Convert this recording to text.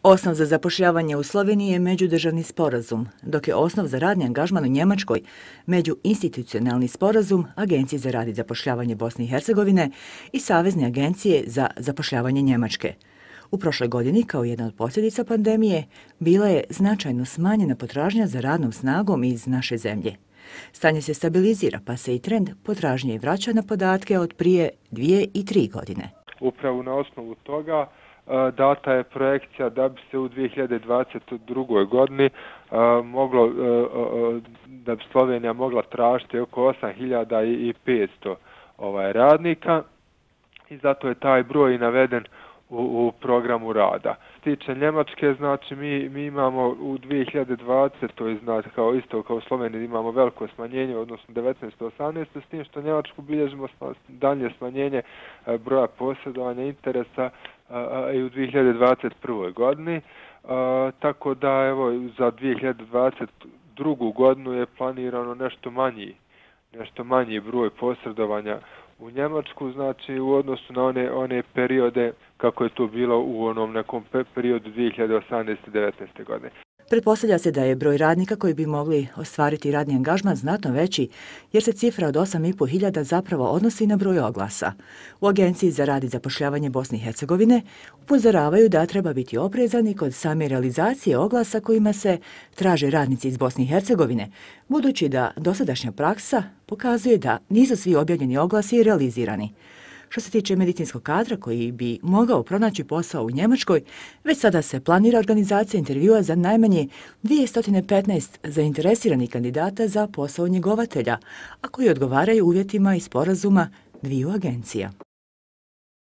Osnov za zapošljavanje u Sloveniji je međudržavni sporazum, dok je osnov za radni angažman u Njemačkoj međuinstitucionalni sporazum Agencije za rad i zapošljavanje Bosne i Hercegovine i Savezne agencije za zapošljavanje Njemačke. U prošloj godini, kao jedna od posljedica pandemije, bila je značajno smanjena potražnja za radnom snagom iz naše zemlje. Stanje se stabilizira, pa se i trend potražnje vraća na podatke od prije 2 i 3 godine. Upravo na osnovu toga data je projekcija da bi se u 2022. godini da bi Slovenija mogla tražiti oko 8.500 radnika i zato je taj broj i naveden u programu rada. Tiče Njemačke, znači mi imamo u 2020. znači kao Sloveniji imamo veliko smanjenje, odnosno 19-18, s tim što Njemačku bilježimo dalje smanjenje broja posjedovanja interesa i u 2021. godini. Tako da evo za 2022. godinu je planirano nešto manji broj posredovanja u Njemačku, znači u odnosu na one periode kako je to bilo u onom nekom periodu 2018-19. godine. Pretpostavlja se da je broj radnika koji bi mogli ostvariti radni angažman znatno veći, jer se cifra od 8.500 zapravo odnosi na broj oglasa. U Agenciji za rad i zapošljavanje Bosne i Hercegovine upozoravaju da treba biti oprezan i kod same realizacije oglasa kojima se traže radnici iz Bosne i Hercegovine, budući da dosadašnja praksa pokazuje da nisu svi objavljeni oglasi realizirani. Što se tiče medicinskog kadra koji bi mogao pronaći posao u Njemačkoj, već sada se planira organizacija intervjua za najmanje 215 zainteresiranih kandidata za posao njegovatelja, a koji odgovaraju uvjetima i sporazuma dviju agencija.